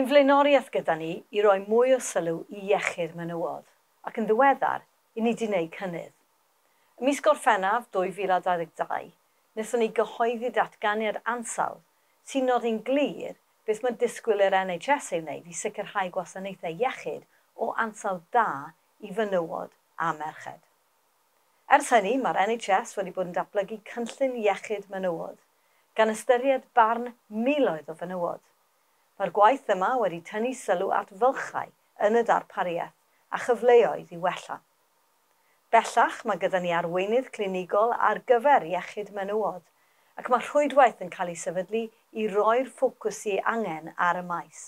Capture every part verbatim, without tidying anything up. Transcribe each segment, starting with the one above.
Mae'n flaenoriaeth gyda ni i roi mwy o sylw i iechyd menywod, ac yn ddiweddar, i ni wedi wneud cynnydd. Ym mis Gorffennaf dwy fil a dau ddeg dau, wnaethon ni gyhoeddi datganiad ansawdd sy'n nodi'n glir beth mae disgwyl i'r N H S ei wneud i sicrhau gwasanaethau iechyd o ansawdd da i fenywod a merched. Ers hynny, mae'r N H S wedi bod yn datblygu cynllun iechyd menywod, gan ystyried barn miloedd o fenywod. Mae'r gwaith yma wedi tynnu sylw at fylchau yn y darpariaeth a chyfleoedd i wella. Bellach, mae gyda ni arweinydd clinigol ar gyfer iechyd menywod, ac mae rhwydwaith yn cael ei sefydlu i roi'r ffocws sydd angen ar y maes.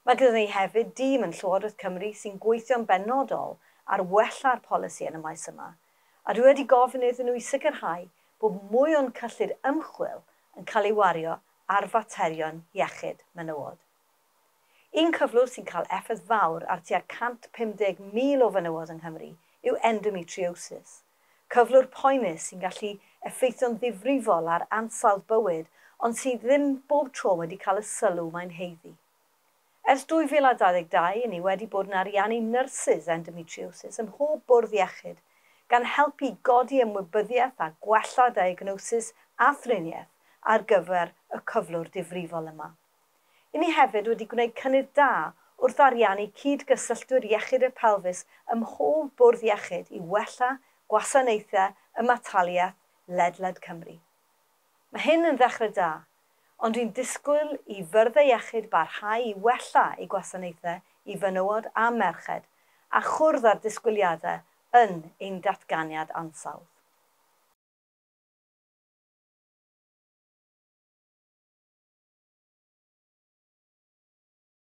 Mae gyda ni hefyd dîm yn Llywodraeth Cymru sy'n gweithio'n benodol ar wella'r polisi yn y maes yma, a dwi wedi gofyn iddyn nhw i sicrhau bod mwy o'n cyllid ymchwil yn cael ei wario ar faterion iechyd menywod. Un cyflwr sy'n cael effaith fawr ar tua cant pum deg mil o fenywod yng Nghymru yw endometriosis, cyflwr poenus sy'n gallu effeithio'n ddifrifol ar ansawdd bywyd, ond sydd ddim bob tro wedi cael y sylw mae'n haeddu. Ers dwy fil a dau ddeg dau, ni wedi bod yn ariannu nyrsys endometriosis ym mhob bwrdd iechyd, gan helpu godi ymwybyddiaeth a gwella diagnosis a thriniaeth ar gyfer y cyflwr difrifol yma. I ni hefyd wedi gwneud cynnydd da wrth ariannu cyd-gysylltwyr iechyd y pelfis ym mhob bwrdd iechyd i wella gwasanaethau ymataliaeth ledled Cymru. Mae hyn yn ddechrau da, ond dwi'n disgwyl i fyrddau iechyd barhau i wella eu gwasanaethau i fenywod a merched a chwrdd â'r disgwyliadau yn ein datganiad ansawdd.